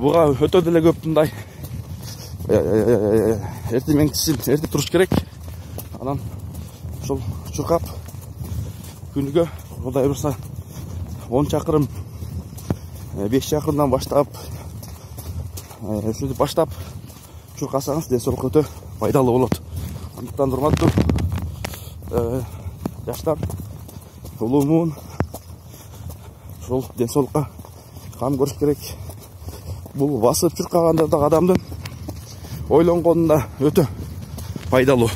буга өтө деле көп мындай эртең менен эрте туруш керек. Анан ушул чуркап күнүгө Кудай буйрса 10 чакырым 5 чакырымдан баштап ушинтип баштап чуркасаңыз ден соолукка өтө пайдалуу болот. Андыктан урматтуу жаштар, улуу муун ушул ден соолукка кам көрүш керек. Бул басып чуркаганда да адамдын ойлонгонунда өтө пайдалуу.